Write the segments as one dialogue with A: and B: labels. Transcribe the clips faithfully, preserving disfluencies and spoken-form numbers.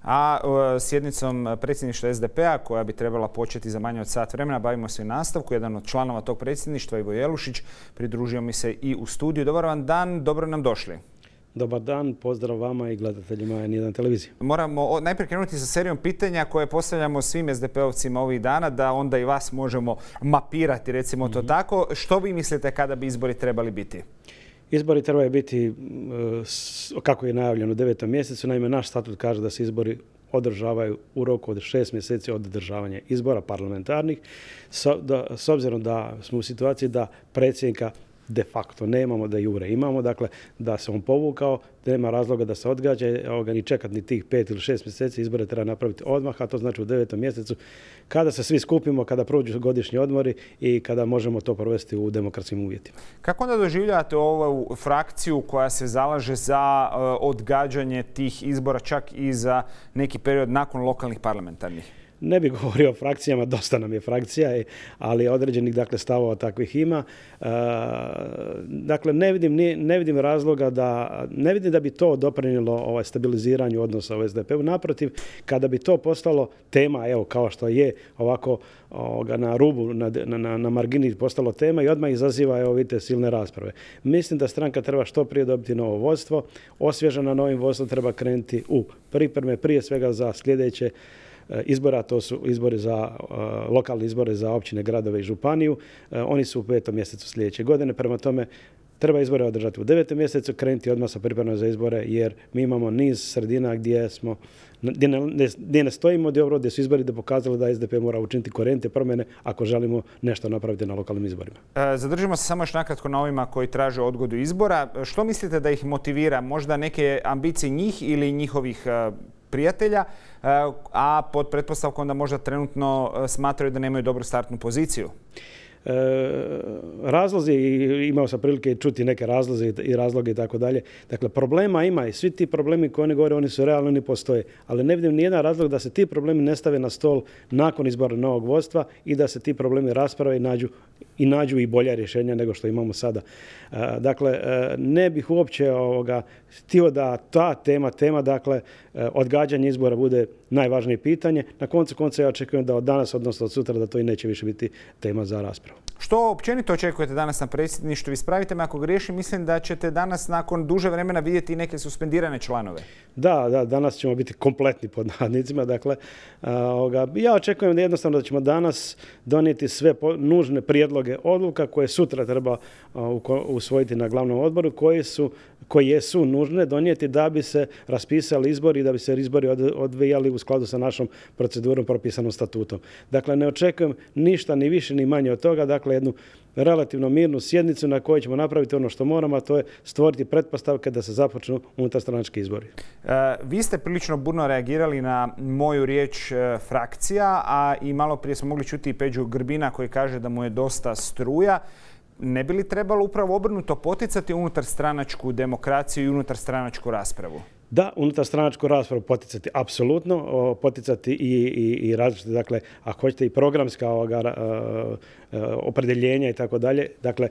A: a sjednicom predsjedništva es de pe a koja bi trebala početi za manje od sat vremena bavimo se i nastavku. Jedan od članova tog predsjedništva, Ivo Jelušić, pridružio mi se i u studiju. Dobar vam dan, dobro nam došli.
B: Dobar dan, pozdrav vama i gledateljima N jedan televizije.
A: Moramo najprije krenuti sa serijom pitanja koje postavljamo svim es de pe ovcima ovih dana, da onda i vas možemo mapirati, recimo to tako. Što vi mislite kada bi izbori trebali biti?
B: Izbori trebaju biti, kako je najavljeno, u devetom mjesecu. Naime, naš statut kaže da se izbori održavaju u roku od šest mjeseci od održavanja izbora parlamentarnih. S obzirom da smo u situaciji da predsjednika de facto nemamo, da jure imamo, dakle da se on povukao, da nema razloga da se odgađa ni čekati ni tih pet ili šest mjeseci, izbore treba napraviti odmah, a to znači u devetom mjesecu kada se svi skupimo, kada prođu godišnji odmori i kada možemo to provesti u demokratskim uvjetima.
A: Kako onda doživljavate ovu frakciju koja se zalaže za odgađanje tih izbora čak i za neki period nakon lokalnih parlamentarnih?
B: Ne bih govorio o frakcijama, dosta nam je frakcija, ali određenih dakle, stavova takvih ima. E, dakle, ne vidim, ne vidim razloga da, ne vidim da bi to doprinijelo ovaj, stabiliziranju odnosa u es de pe u. Naprotiv, kada bi to postalo tema, evo kao što je ovako ovoga, na rubu, na, na, na margini postalo tema i odmah izaziva, evo vidite, silne rasprave. Mislim da stranka treba što prije dobiti novo vodstvo, osvježena novim vodstvom treba krenuti u pripreme, prije svega za sljedeće izbora, to su izbori za lokalne izbore za općine, gradove i županiju. Oni su u petom mjesecu sljedeće godine, prema tome treba izbore održati u devetom mjesecu, krenuti odmah sa pripremom za izbore, jer mi imamo niz sredina gdje smo, gdje ne, gdje ne stojimo dobro, gdje su izbori da pokazali da es de pe mora učiniti korjenite promjene ako želimo nešto napraviti na lokalnim izborima.
A: Zadržimo se samo još nakratko na ovima koji traže odgodu izbora. Što mislite da ih motivira? Možda neke ambicije njih ili njihovih prijatelja, a pod pretpostavkom da možda trenutno smatraju da nemaju dobru startnu poziciju?
B: E, razlozi, imao sam prilike čuti neke razloze i razloge i tako dalje. Dakle, problema ima i svi ti problemi koji oni govore, oni su realni, oni postoje. Ali ne vidim nijedan razlog da se ti problemi ne stave na stol nakon izbora novog vodstva i da se ti problemi rasprave i nađu i nađu i bolja rješenja nego što imamo sada. E, dakle, ne bih uopće ovoga, htio da ta tema, tema, dakle, odgađanje izbora bude najvažnije pitanje. Na koncu konca ja očekujem da od danas, odnosno od sutra, da to i neće više biti tema za raspravu.
A: Što općenito očekujete danas na predsjedništvu? Ispravite me ako griješim, mislim da ćete danas nakon duže vremena vidjeti neke suspendirane članove.
B: Da, da, danas ćemo biti kompletni pod navodnicima. Dakle, ovoga, ja očekujem da jednostavno da ćemo danas donijeti sve nužne prijedloge odluka koje sutra treba usvojiti na glavnom odboru, koji su, koje su nužne donijeti da bi se raspisali izbori i da bi se izbori odvijali u skladu sa našom procedurom propisanom statutom. Dakle, ne očekujem ništa ni više ni manje od toga. Dakle, jednu relativno mirnu sjednicu na kojoj ćemo napraviti ono što moramo, a to je stvoriti pretpostavke da se započnu unutarstranački izbori.
A: E, vi ste prilično burno reagirali na moju riječ e, frakcija, a i malo prije smo mogli čuti i Peđu Grbina koji kaže da mu je dosta struja. Ne bi li trebalo upravo obrnuto poticati unutarstranačku demokraciju i unutarstranačku raspravu?
B: Da, unutarstranačku raspravu poticati apsolutno, poticati i, i, i različite, dakle, ako hoćete i programska ovoga, opredjeljenja i tako dalje. Dakle,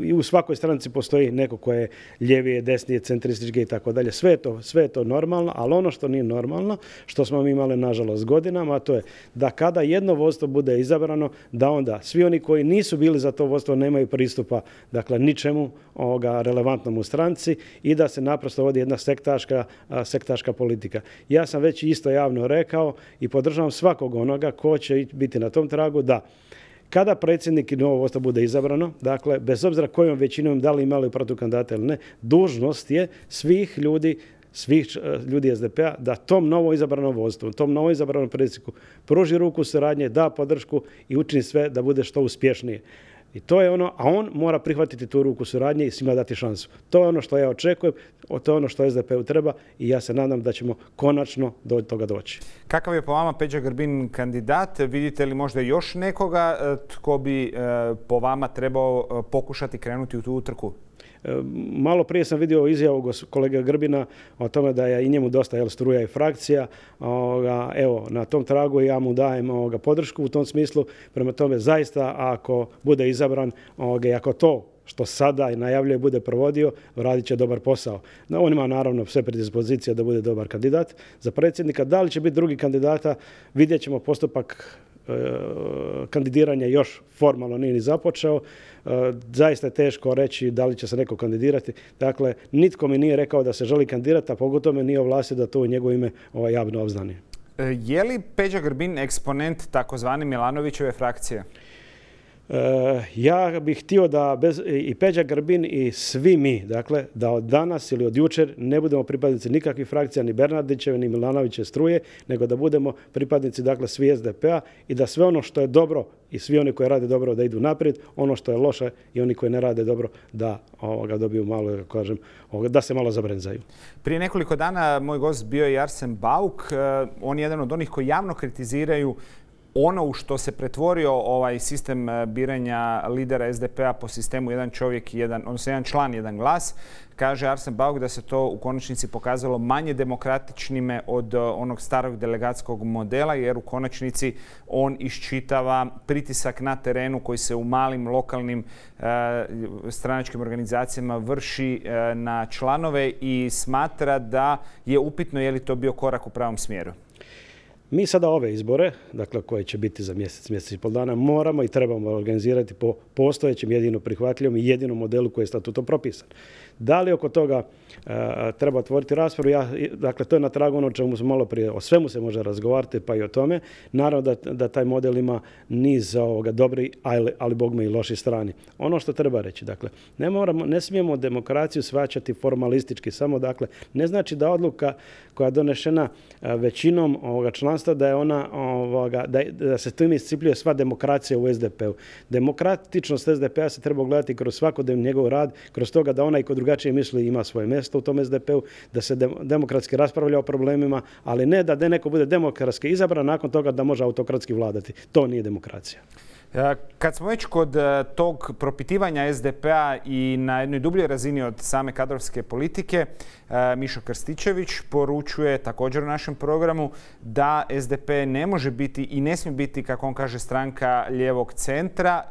B: i u svakoj stranici postoji neko koje je ljevije, desnije, centrističke i tako dalje. Sve je to, sve je to normalno, ali ono što nije normalno, što smo mi imali nažalost godinama, a to je da kada jedno vodstvo bude izabrano, da onda svi oni koji nisu bili za to vodstvo nemaju pristupa, dakle, ničemu ovoga relevantnom u stranci i da se naprosto vodi jedna sektaška, sektaška politika. Ja sam već isto javno rekao i podržavam svakog onoga ko će biti na tom tragu da kada predsjednik i novo vodstvo bude izabrano, dakle, bez obzira kojom većinom da li imali protukandidata ili ne, dužnost je svih ljudi, svih ljudi es de pe a da tom novo izabranom vodstvu, tom novo izabranom predsjedniku pruži ruku suradnje, da podršku i učini sve da bude što uspješnije. I to je ono, a on mora prihvatiti tu ruku suradnje i svima dati šansu. To je ono što ja očekujem, to je ono što es de pe u treba i ja se nadam da ćemo konačno do toga doći.
A: Kakav je po vama Peđa Grbin kandidat? Vidite li možda još nekoga tko bi po vama trebao pokušati krenuti u tu utrku?
B: Malo prije sam vidio izjavu kolege Grbina o tome da je i njemu dosta jel, struja i frakcija. Evo, na tom tragu ja mu dajem ovoga, podršku u tom smislu. Prema tome, zaista, ako bude izabran i ako to što sada i najavljuje bude provodio, radit će dobar posao. No, on ima naravno sve predispozicije da bude dobar kandidat za predsjednika. Da li će biti drugi kandidata, vidjet ćemo. Postupak e, kandidiranja još formalno nije ni započeo. E, zaista je teško reći da li će se neko kandidirati. Dakle, nitko mi nije rekao da se želi kandidirati, a pogotovo me nije ovlastio da to u njegovo ime ovaj, javno obznani.
A: Je li Peđa Grbin eksponent takozvane Milanovićeve frakcije?
B: Uh, ja bih htio da bez, i Peđa Grbin i svi mi, dakle, da od danas ili od jučer ne budemo pripadnici nikakvih frakcija, ni Bernardićeve, ni Milanovićeve struje, nego da budemo pripadnici, dakle, svi S D P-a i da sve ono što je dobro i svi oni koji rade dobro da idu naprijed, ono što je loše i oni koji ne rade dobro da ovoga, dobiju malo, kažem, ovoga, da se malo zabrenzaju.
A: Prije nekoliko dana moj gost bio je Arsen Bauk. On je jedan od onih koji javno kritiziraju ono u što se pretvorio ovaj sistem biranja lidera S D P-a po sistemu jedan čovjek, jedan, odnosno jedan član, jedan glas. Kaže Arsen Bauk da se to u konačnici pokazalo manje demokratičnime od onog starog delegatskog modela, jer u konačnici on iščitava pritisak na terenu koji se u malim lokalnim e, stranačkim organizacijama vrši e, na članove i smatra da je upitno je li to bio korak u pravom smjeru.
B: Mi sada ove izbore, dakle koje će biti za mjesec, mjesec i pol dana, moramo i trebamo organizirati po postojećem jedino prihvatljivom i jedinom modelu koji je statutom propisan. Da li oko toga e, treba otvoriti raspravu? Ja, dakle, to je na tragu ono o čemu smo malo prije, o svemu se može razgovarati, pa i o tome. Naravno da, da taj model ima niz ovoga dobri, ali, ali bogme i loši strani. Ono što treba reći, dakle, ne, moramo, ne smijemo demokraciju shvaćati formalistički, samo dakle, ne znači da odluka koja je donešena većinom ovoga članstva da je ona ovoga, da, da se tu iscipljuje sva demokracija u S D P-u. Demokratičnost S D P-a se treba gledati kroz svakodnevni njegov rad, kroz toga da onaj ko drugačije misli ima svoje mjesto u tom S D P-u, da se demokratski raspravlja o problemima, ali ne da neko bude demokratski izabran, nakon toga da može autokratski vladati. To nije demokracija.
A: Kad smo već kod tog propitivanja S D P-a i na jednoj dubljoj razini od same kadrovske politike, Mišo Krstičević poručuje također u našem programu da S D P ne može biti i ne smije biti, kako on kaže, stranka lijevog centra,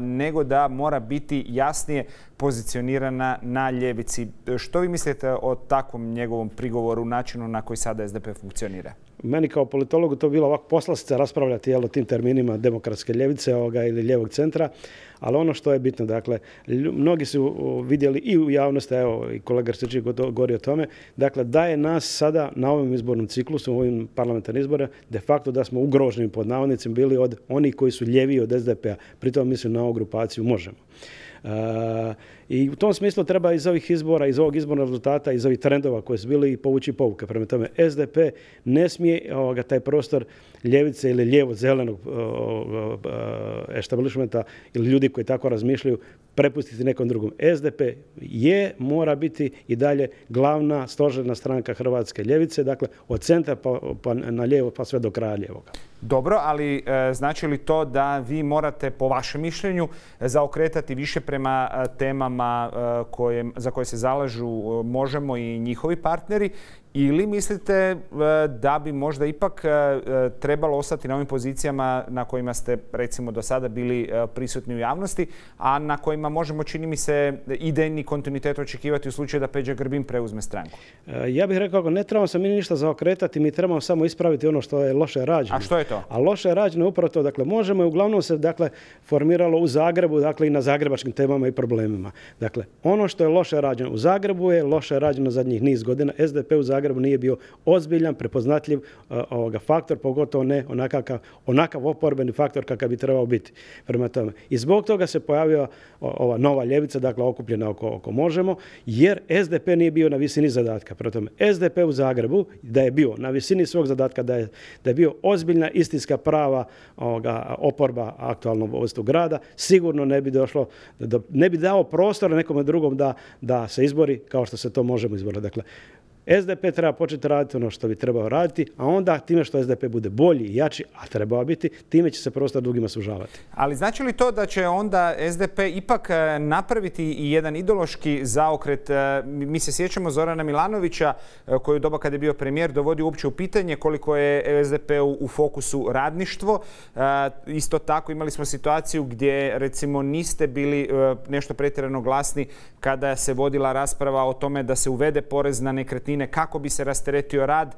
A: nego da mora biti jasnije pozicionirana na ljevici. Što vi mislite o takvom njegovom prigovoru, načinu na koji sada S D P funkcionira?
B: Meni kao politologu to bilo ovako poslastica raspravljati o tim terminima demokratske ljevice ovoga, ili lijevog centra, ali ono što je bitno, dakle, mnogi su vidjeli i u javnosti, evo i kolega Krstičević govori o tome, dakle, da je nas sada na ovom izbornom ciklusu, u ovim parlamentarnim izborima, de facto da smo ugroženi pod navodnicima bili od onih koji su ljeviji od S D P-a. Pritom mislim na ovu grupaciju Možemo. Uh, I u tom smislu treba iz ovih izbora, iz ovog izbornog rezultata, iz ovih trendova koji su bili povući pouke. Prema tome, S D P ne smije ovoga, taj prostor ljevice ili lijevo-zelenog establishmenta ili ljudi koji tako razmišljaju prepustiti nekom drugom. S D P je, mora biti i dalje glavna stožerna stranka hrvatske ljevice, dakle od centra pa, pa na lijevo pa sve do kraja lijevoga.
A: Dobro, ali e, znači li to da vi morate, po vašem mišljenju, zaokretati više prema e, temama e, koje, za koje se zalažu e, Možemo i njihovi partneri, ili mislite e, da bi možda ipak e, trebalo ostati na ovim pozicijama na kojima ste, recimo, do sada bili e, prisutni u javnosti, a na kojima možemo, čini mi se, idejni kontinuitet očekivati u slučaju da Peđa Grbin preuzme stranku?
B: E, ja bih rekao, ne trebamo se mi ništa zaokretati, mi trebamo samo ispraviti ono što je loše rađeno.
A: A što je to?
B: A loše je rađeno upravo to. Dakle, Možemo je uglavnom se dakle, formiralo u Zagrebu, dakle i na zagrebačkim temama i problemima. Dakle, ono što je loše rađeno u Zagrebu je loše rađeno zadnjih niz godina. S D P u Zagrebu nije bio ozbiljan, prepoznatljiv uh, ovoga faktor, pogotovo ne onakav, onakav oporbeni faktor kakav bi trebao biti. Prema tome. I zbog toga se pojavila ova nova ljevica, dakle okupljena oko, oko Možemo, jer S D P nije bio na visini zadatka. Prema tome, S D P u Zagrebu, da je bio na visini svog zadatka, da je, da je bio ozbiljna istinska prava ovoga, oporba aktualnog vodstvu grada, sigurno ne bi došlo, da, ne bi dao prostora nekome drugom da, da se izbori kao što se to Možemo izboriti. Dakle, S D P treba početi raditi ono što bi trebao raditi, a onda time što S D P bude bolji i jači, a trebao biti, time će se prostor drugima sužavati.
A: Ali znači li to da će onda S D P ipak napraviti i jedan ideološki zaokret? Mi se sjećamo Zorana Milanovića, koji u doba kada je bio premijer dovodi uopće u pitanje koliko je S D P u, u fokusu radništvo. Isto tako imali smo situaciju gdje recimo niste bili nešto pretjerano glasni kada se vodila rasprava o tome da se uvede porez na nekretnine kako bi se rasteretio rad.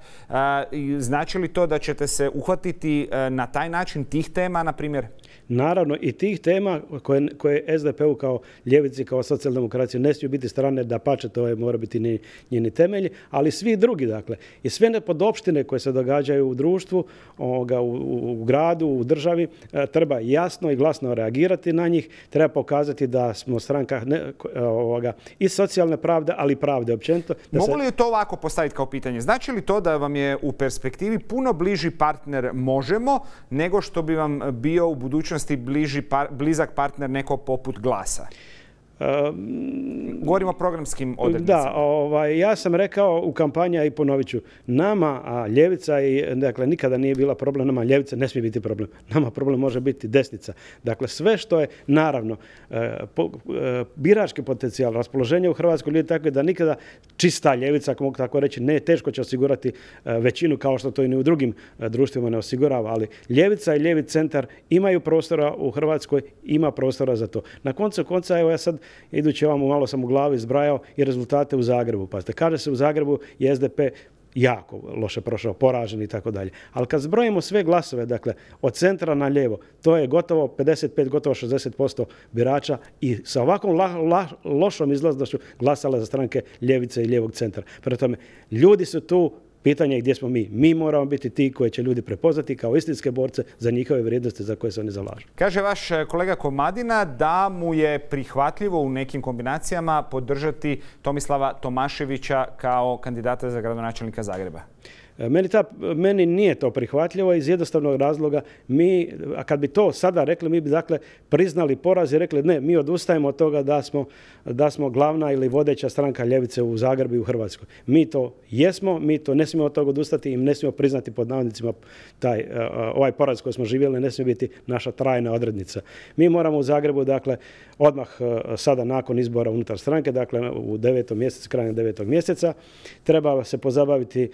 A: Znači li to da ćete se uhvatiti na taj način tih tema, na primjer?
B: Naravno, i tih tema koje, koje S D P-u kao ljevici, kao socijaldemokraciji ne smiju biti strane, da pače, to je, mora biti njeni temelji, ali svi drugi, dakle, i sve nepodopštine koje se događaju u društvu, ovoga, u, u gradu, u državi, treba jasno i glasno reagirati na njih, treba pokazati da smo stranka ne, ovoga, i socijalne pravde, ali i pravde općenito.
A: Mogu li to ovako postaviti kao pitanje? Znači li to da vam je u perspektivi puno bliži partner Možemo nego što bi vam bio u budućnosti bliži, par, blizak partner neko poput Glasa? Govorimo o programskim odrednicama.
B: Da, ovaj, ja sam rekao u kampanji, a i ponovit ću, nama, a ljevica, i, dakle, nikada nije bila problem, nama ljevica ne smije biti problem. Nama problem može biti desnica. Dakle, sve što je, naravno, po, birački potencijal, raspoloženje u Hrvatskoj ljudi tako je da nikada čista ljevica, ako mogu tako reći, ne, teško će osigurati većinu kao što to i ni u drugim društvima ne osigurava, ali ljevica i ljevi centar imaju prostora u Hrvatskoj, ima prostora za to. Na koncu konca, evo ja sad idući ovamo, malo sam u glavi zbrajao i rezultate u Zagrebu. Pazite, kaže se u Zagrebu je S D P jako loše prošao, poražen i tako dalje. Ali kad zbrojimo sve glasove, dakle, od centra na lijevo, to je gotovo pedeset pet, gotovo šezdeset posto birača i sa ovakvom la, la, lošom izlaznošću glasale za stranke ljevice i lijevog centra. Prema tome, ljudi su tu. Pitanje je gdje smo mi. Mi moramo biti ti koje će ljudi prepoznati kao istinske borce za njihove vrijednosti za koje se oni zalažu.
A: Kaže vaš kolega Komadina da mu je prihvatljivo u nekim kombinacijama podržati Tomislava Tomaševića kao kandidata za gradonačelnika Zagreba.
B: Meni, ta, meni nije to prihvatljivo iz jednostavnog razloga. Mi, a kad bi to sada rekli, mi bi dakle priznali poraz i rekli ne, mi odustajemo od toga da smo, da smo glavna ili vodeća stranka ljevice u Zagrebu i u Hrvatskoj. Mi to jesmo, mi to ne smijemo od toga odustati i ne smijemo priznati pod navodnicima taj, ovaj poraz koji smo živjeli, ne smije biti naša trajna odrednica. Mi moramo u Zagrebu, dakle, odmah sada nakon izbora unutar stranke, dakle u devetom mjesecu, krajem devetog mjeseca, treba se pozabaviti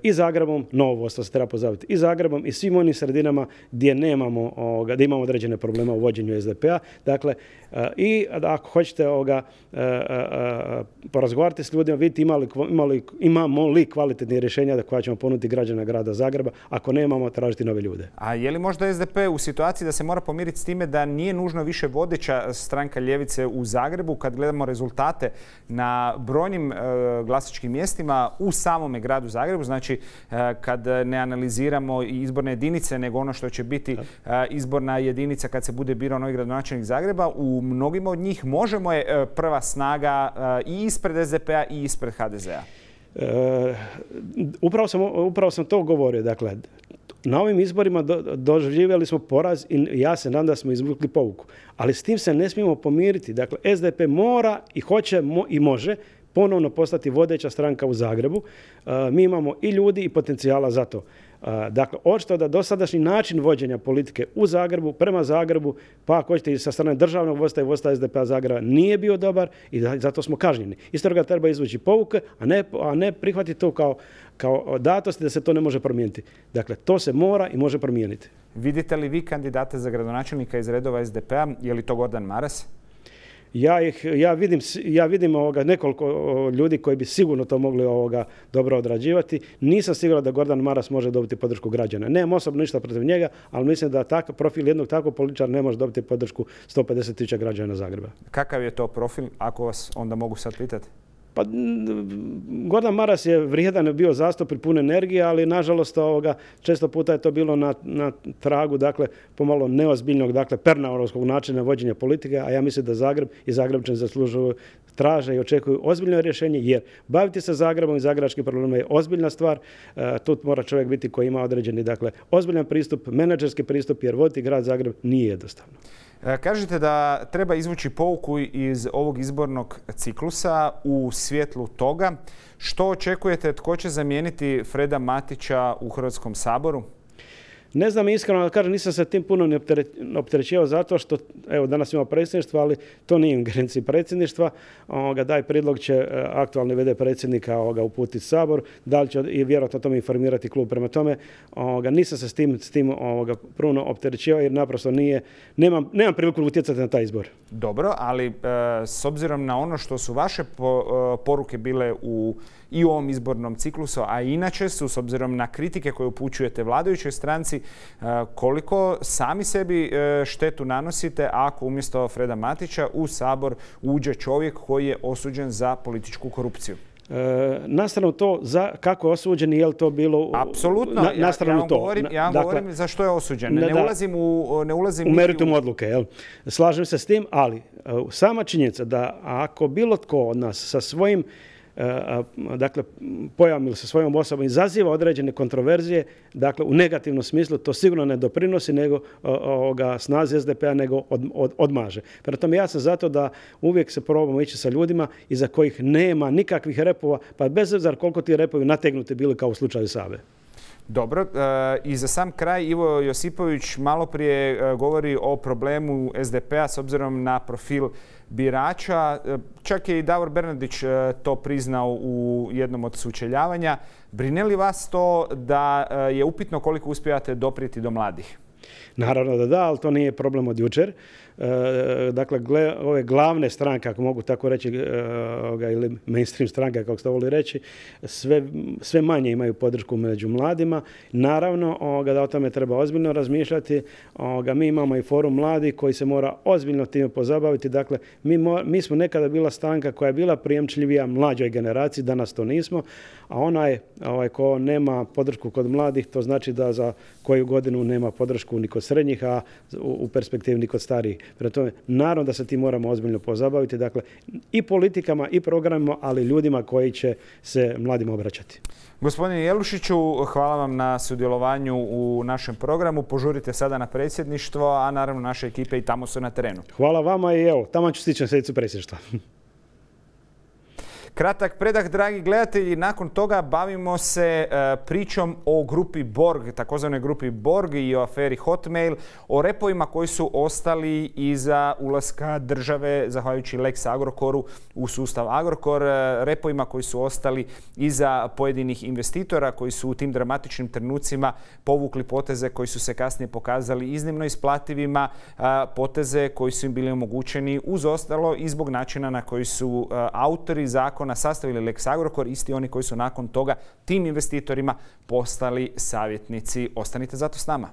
B: i Zagrebom, novo vodstvo se treba pozabaviti i Zagrebom i svim onim sredinama gdje nemamo, ovoga, gdje imamo određene probleme u vođenju S D P-a. Dakle, i ako hoćete ovoga, porazgovarati s ljudima, vidjeti imali, imali, imamo li kvalitetne rješenja da koja ćemo ponuditi građana grada Zagreba, ako nemamo, tražiti nove ljude.
A: A je li možda S D P u situaciji da se mora pomiriti s time da nije nužno više vodeća stranka ljevice u Zagrebu kad gledamo rezultate na brojnim e, glasačkim mjestima u samome gradu Zagrebu, znači e, kad ne analiziramo izborne jedinice, nego ono što će biti e, izborna jedinica kad se bude birao novi gradonačelnik Zagreba, u mnogima od njih Možemo je e, prva snaga e, i ispred S D P-a i ispred H D Z-a.
B: E, upravo sam, upravo sam to govorio, dakle, na ovim izborima do, doživjeli smo poraz i ja se nadam da smo izvukli pouku. Ali s tim se ne smijemo pomiriti. Dakle, S D P mora i hoće mo, i može ponovno postati vodeća stranka u Zagrebu. E, mi imamo i ljudi i potencijala za to. E, dakle, očito da dosadašnji način vođenja politike u Zagrebu, prema Zagrebu, pa ako hoćete i sa strane državnog vodstva i vodstva S D P-a Zagreba nije bio dobar i da, zato smo kažnjeni. Isto toga treba izvući pouke, a ne, a ne prihvatiti to kao kao datosti da se to ne može promijeniti. Dakle, to se mora i može promijeniti.
A: Vidite li vi kandidate za gradonačelnika iz redova S D P-a? Je li to Gordan Maras?
B: Ja, ih, ja vidim, ja vidim ovoga nekoliko ljudi koji bi sigurno to mogli ovoga dobro odrađivati. Nisam siguran da Gordan Maras može dobiti podršku građana. Nemam osobno ništa protiv njega, ali mislim da takav profil jednog takvog političara ne može dobiti podršku sto pedeset tisuća građana Zagreba. Kakav
A: je to profil, ako vas onda mogu sad pitati?
B: Pa, Gordan Maras je vrijedan bio zastupnik pun energije, ali nažalost ovoga, često puta je to bilo na, na tragu, dakle, pomalo neozbiljnog, dakle, pernaurovskog načina vođenja politike, a ja mislim da Zagreb i Zagrebčani zaslužuju traže i očekuju ozbiljno rješenje, jer baviti se Zagrebom i zagrebačkim problemima je ozbiljna stvar. Tu mora čovjek biti koji ima određeni, dakle, ozbiljan pristup, menadžerski pristup, jer voditi grad Zagreb nije jednostavno.
A: Kažete da treba izvući pouku iz ovog izbornog ciklusa u svjetlu toga. Što očekujete, tko će zamijeniti Freda Matića u Hrvatskom saboru?
B: Ne znam iskreno, da kažem, nisam se tim puno ne opterećivao zato što, evo, danas imamo predsjedništvo, ali to nije u ingerenciji predsjedništva. Ovoga, daj prijedlog će aktualni v d predsjednika ovoga uputiti Sabor, da li će i vjerojatno o tome informirati klub. Prema tome, ovoga, nisam se s tim, s tim ovoga, pruno opterećivao jer naprosto nije, nemam, nemam priliku utjecati na taj izbor.
A: Dobro, ali e, s obzirom na ono što su vaše po, e, poruke bile u i u ovom izbornom ciklusu, a inače su, s obzirom na kritike koje upućujete vladajućoj stranci, koliko sami sebi štetu nanosite ako umjesto Freda Matića u Sabor uđe čovjek koji je osuđen za političku korupciju?
B: E, nastranu to za kako je osuđen i je li to bilo...
A: Apsolutno.
B: Na, ja, ja vam
A: to. govorim, ja vam dakle, govorim za što je osuđen. Ne, ne ulazim u... Ne ulazim
B: u meritum odluke. Jel? Slažem se s tim, ali sama činjenica da ako bilo tko od nas sa svojim dakle, pojavom ili sa svojom osobom izaziva određene kontroverzije, dakle, u negativnom smislu, to sigurno ne doprinosi nego ovoga, snazi es de pe a, nego od, od, odmaže. Prema tome, ja sam zato da uvijek se probamo ići sa ljudima iza kojih nema nikakvih repova, pa bez obzira koliko ti repovi nategnuti bili kao u slučaju Sabe.
A: Dobro, i za sam kraj Ivo Josipović malo prije govori o problemu es de pe a s obzirom na profil birača. Čak je i Davor Bernardić to priznao u jednom od sučeljavanja. Brine li vas to da je upitno koliko uspijate doprijeti do mladih?
B: Naravno da da, ali to nije problem od jučer. E, dakle, gle, ove glavne stranke, ako mogu tako reći, e, ili mainstream stranke, kako ste voli reći, sve, sve manje imaju podršku među mladima. Naravno ovoga, da o tome treba ozbiljno razmišljati. Ovoga, mi imamo i forum mladih koji se mora ozbiljno time pozabaviti. Dakle, mi, mo, mi smo nekada bila stranka koja je bila prijemčljivija mlađoj generaciji, danas to nismo, a onaj ovaj, ko nema podršku kod mladih, to znači da za koju godinu nema podršku ni kod srednjih, a u, u perspektivi ni kod starijih. Prema tome, naravno da se ti moramo ozbiljno pozabaviti, dakle, i politikama i programima, ali ljudima koji će se mladima obraćati.
A: Gospodine Jelušiću, hvala vam na sudjelovanju u našem programu. Požurite sada na predsjedništvo, a naravno naše ekipe i tamo su na terenu.
B: Hvala vama i evo, tamo ću stići na sjednicu predsjedništva.
A: Kratak predah, dragi gledatelji. Nakon toga bavimo se pričom o grupi Borg, takozvanoj grupi Borg i o aferi Hotmail, o repovima koji su ostali iza ulaska države, zahvaljujući Lex Agrokoru, u sustav Agrokor, repovima koji su ostali iza pojedinih investitora koji su u tim dramatičnim trenucima povukli poteze koji su se kasnije pokazali iznimno isplativima, poteze koji su im bili omogućeni uz ostalo i zbog načina na koji su autori zakona sastavili Lex Agrokor, isti oni koji su nakon toga tim investitorima postali savjetnici. Ostanite zato s nama.